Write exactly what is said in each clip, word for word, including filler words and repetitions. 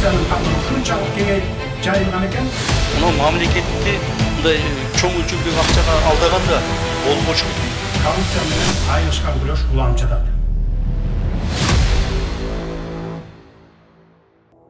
коррупциянын камыры ушунчалык кеңейип жайылган экен. Мына мамлекетти мындай чоң өлчөмдөгү акчага алдаганда болбошу. Коррупция менен айылышкан күрөш уламчыдат.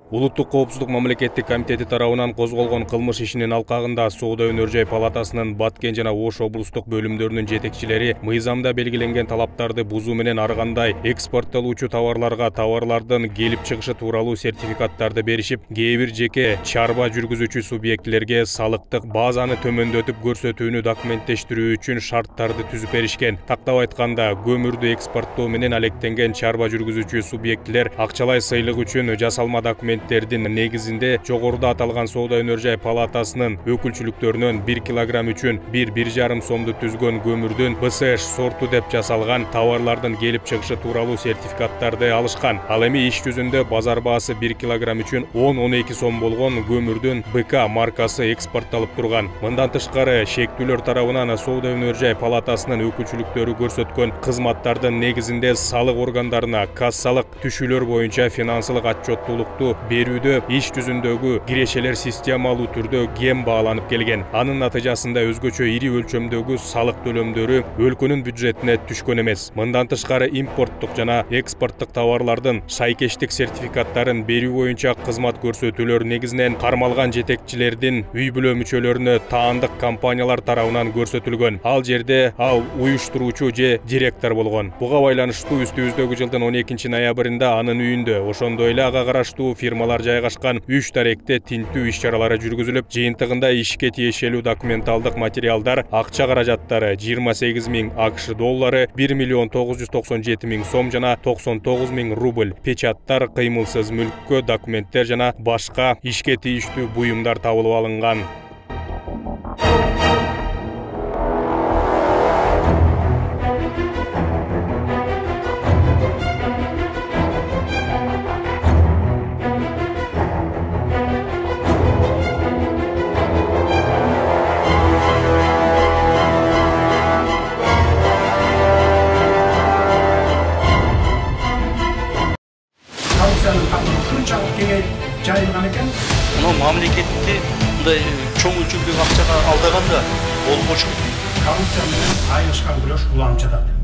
Улуттук коопсуздук мамлекеттик комитети тарабынан козголгон кылмыш ишинин алкагында Соода өнөр жай палатасынын Баткен жана Ош облустук бөлүмдөрүнүн жетекчилери мыйзамда белгиленген талаптарды бузуу менен ар кандай экспорттолуучу товарларга товарлардын келип чыгышы тууралуу сертификаттарды беришип, кээ бир жеке чарба жүргүзүүчү субъектилерге салыктык базаны төмөндөтүп көрсөтүүнү документтештирүү үчүн шарттарды түзүп беришкен. Тактап айтканда, көмүрдү экспорттоо менен алектенген чарба жүргүзүүчү субъектилер акчалай сыйлык үчүн жасалма документ негизинде жогоруда аталган Соода өнөр жай палатасынын өкүлчүлүктөрүнөн бир килограмм үчүн бир бир жарым сомду түзгөн көмүрдүн бэ эс эш сорту деп жасалган товарлардын келип чыгышы тууралуу сертификаттарды алышкан. Ал эми иш жүзүндө базар баасы бир килограмм үчүн он он эки сом болгон көмүрдүн бэ ка маркасы экспортталып турган. Мындан тышкары шектүүлөр тарабынан Соода өнөр жай палатасынын өкүлчүлүктөрү көрсөткөн кызматтардын негизинде салык органдарына кассалык түшүүлөр боюнча финансылык отчеттуулукту берүүдө иш жүзүндөгү кирешелер системалуу түрдө кем бааланып келген. Анын натыйжасында өзгөчө ири өлчөмдөгү салык төлөмдөрү өлкөнүн бюджетине түшкөн эмес. Мындан тышкары импорттук жана экспорттук товарлардын шайкештик сертификаттарын берүү боюнча кызмат көрсөтүүлөр негизинен кармалган жетекчилердин үй бүлө мүчөлөрүнө таандык компаниялар тарабынан көрсөтүлгөн. Ал жерде ал уюштуруучу же директор болгон. Буга байланыштуу үстүбүздөгү жылдын он экинчи ноябрында анын үйүндө, ошондой эле ага караштуу фирмалар жайгашкан үч даректе тинтүү иш-чаралары жүргүзүлүп, жыйынтыгында ишке тиешелүү документалдык материалдар, акча каражаттары жыйырма сегиз миң акш доллары, бир миллион тогуз жүз токсон жети миң сом жана токсон тогуз миң рубль, печаттар, кыймылсыз мүлккө документтер жана башка ишке тийиштүү буюмдар табылып алынган. Коррупциянын камыры ушунчалык кеңейип жайылган экен. Мына мамлекетти мындай чоң өлчөмдөгү акчага алдаганда болбошу. Коррупция менен айылышкан күрөш уламчыдат.